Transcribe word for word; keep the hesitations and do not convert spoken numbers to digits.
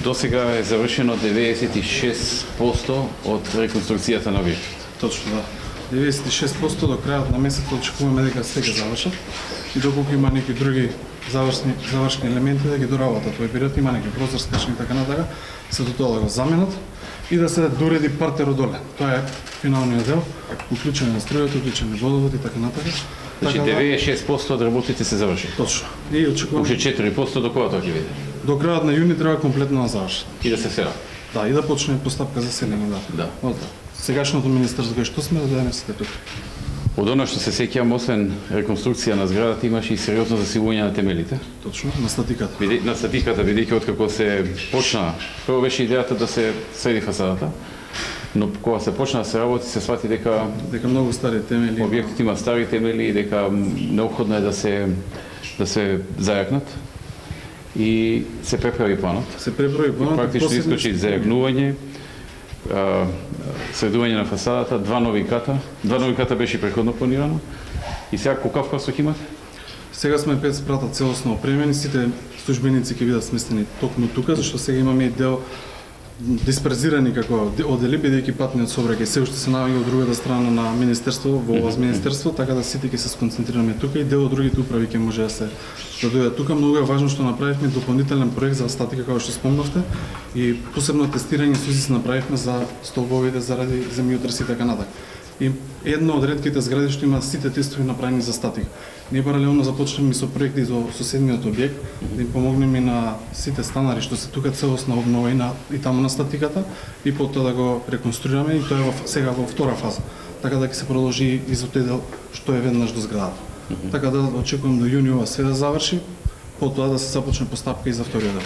Досега е завршено деветдесет и шест проценти од реконструкцијата на објектот. Точно, да. деветдесет и шест проценти до крајот на месецот очекуваме дека се ќе завршат и доколку има некои други завршни завршни елементи да ги доработат во период, има некои прозорскачни и така натака, се до тоа да го заменат и да се дореди партерот доле. Тоа е финалниот дел, уклучен на струјата, уклучен на водовод и така натака. Значи деветдесет и шест проценти од работите се заврши. Точно. И очекуваме уште четири проценти до кога тоа ќе биде? До крајот на јуни треба комплетно да завршат. И да се села. Да, и да почне постапка за селење, да. Да. Од сегашното министерство кај што сме да донесете тука. Од она што се сеќавам, освен реконструкција на зградата, имаше и сериозно засилување на темелите. Точно, на статиката. Биде, на статиката, бидејќи откако се почна, прво беше идејата да се среди фасадата, но кога се почна да се работи, се свати дека дека многу стари темели, објектот има стари темели и дека неопходно е да се да се зајакнат. И се преправи планот. Се преправи планот. Практично искочи зајакнување, средување на фасадата, два нови ката. Два нови ката беше претходно планирано. И сега колкав просок имате? Сега сме пет спрата целосно опремени, сите службеници ќе бидат сместени токму тука, зашто сега имаме и дел дисперзирани како одели, бидејќи патниот сообраќај се уште се наоѓа од другата страна на министерство, во ова министерство, така да сите ќе се сконцентрираме тука и дел од другите управи ќе може да се да дојдат тука. Многу е важно што направивме дополнителен проект за статика, како што спомнавте, и посебно тестирање сузис направивме за столбовите заради земјотреси и така натаму. И една од ретките згради што има сите тестови направени за статика. Ние паралелно започнеме со проекти за соседниот објект, да им помогнеме на сите станари што се тука целосна обнова и, на, и таму на статиката, и потоа да го реконструираме, и тоа е во, сега во втора фаза. Така да ќе се продолжи и за тој дел што е веднаш до зградата. Mm -hmm. Така да очекувам до јуни ова све да заврши, потоа да се започне постапка и за вториот дел.